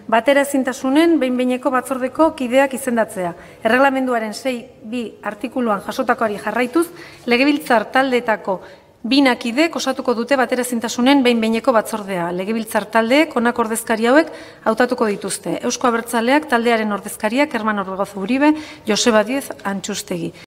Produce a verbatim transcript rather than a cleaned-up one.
bateraezintasunen behin-behineko batzordeko kideak izendatzea. Erreglamenduaren sei puntu bi artikuluan jasotakoari jarraituz, legebiltzar taldeetako bina kidek osatuko dute bateraezintasunen behin-behineko batzordea. Legebiltzar taldeek honako ordezkari hauek hautatuko dituzte. Euzko Abertzaleak taldearen ordezkariak Herman Orbegozo Uribe, Joseba Díez Antxustegi.